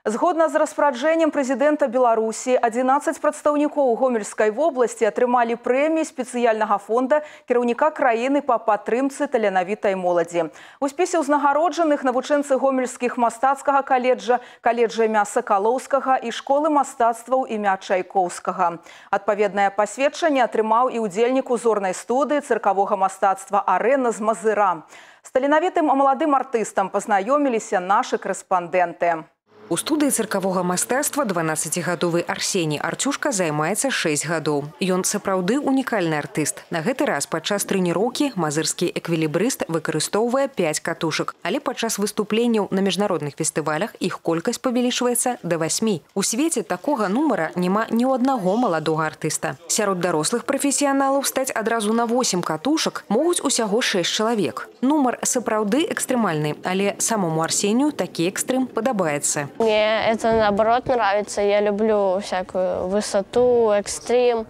Згодна з распараджэннем прэзідэнта Беларусі, 11 прадстаўнікоў Гомельскай вобласці атрымалі прэміі спецыяльнага фонда кіраўніка краіны па падтрымцы таленавітай моладзі. У спісе ўзнагароджаных навучэнцы гомельскіх мастацкага каледжа, каледжа імя Сакалоўскага і школы мастацтваў імя Чайкоўскага. Адпаведнае пасведчанне атрымаў і ўдзельнік узорнай студыі цыркавога мастацтва «Арэна» з Мазыра. З таленавітым маладым артыстам пазнаёміліся нашы корэспандэнты. У студыі цыркавога мастацтва 12-гадовы Арсеній Артюшка займаецца 6 гадоў. Ён сапраўды унікальны артыст. На гэты раз падчас трэніроўкі мазырскі эквілібрыст выкарыстоўвае 5 катушак. Але падчас выступленняў на міжнародных фестывалях іх колькасць павялічваецца да 8. У свеце такога нумара няма ні ў аднаго маладога артыста. Сярод дарослых прафесіяналаў стаць адразу на 8 катушак могуць усяго 6 чалавек. Нумар сапраўды экстрэмальны, але самому Арсенію такі экстрым падабаецца. Мне это наоборот нравится. Я люблю всякую высоту, экстрим.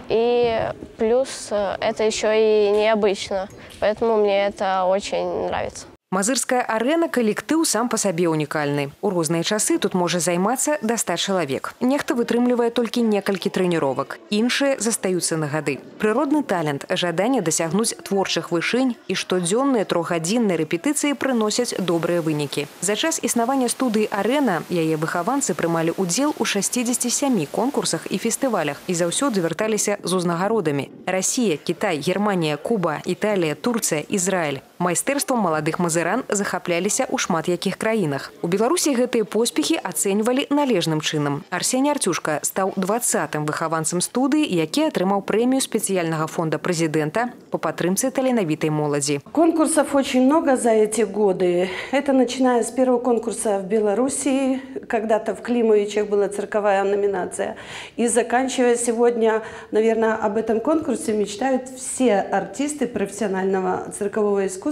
И плюс это еще и необычно. Поэтому мне это очень нравится. Мазырская арэна калектыў сам па сабе унікальны. У розныя часы тут можа займацца да 100 чалавек. Нехта вытрымлівае толькі некалькі трэніровак. Іншыя застаюцца на гады. Прыродны талент, жаданне дасягнуць творчых вышынь і штодзённыя 3-гадзінныя рэпетыцыі прыносяць добрыя вынікі. За час існавання студыі «Арэна» яе выхаванцы прымалі ўдзел у 67 конкурсах і фестывалях і заўсёды вярталіся з узнагародамі. Расія, Кітай, Германія, Куба, Італія, Турцыя, Ізраіль. Майстэрствам маладых мазыран захапляліся ў шмат якіх краінах. У Беларусі гэтыя поспехі ацэньвалі належным чынам. Арсеній Артюшка стаў 20-м выхаванцам студыі, які атрымаў прэмію спецыяльнага фонда прэзідэнта по падтрымцы таленавітай моладзі. Конкурсов очень много за эти годы. Это начиная с первого конкурса в Беларуси, когда-то в Климовичах была цирковая номинация, и заканчивая сегодня, наверное, об этом конкурсе мечтают все артисты профессионального циркового искусства.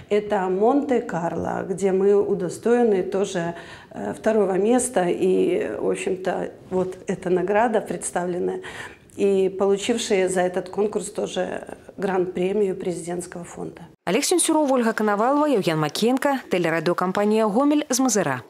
Это Монте-Карло, где мы удостоены тоже 2-го места. И, в общем-то, вот эта награда представленная. И получившие за этот конкурс тоже гранд-премию президентского фонда. Олег Сенцюров, Ольга Коновалова, Евген Макенко, телерадиокомпания «Гомель» з Мазыра.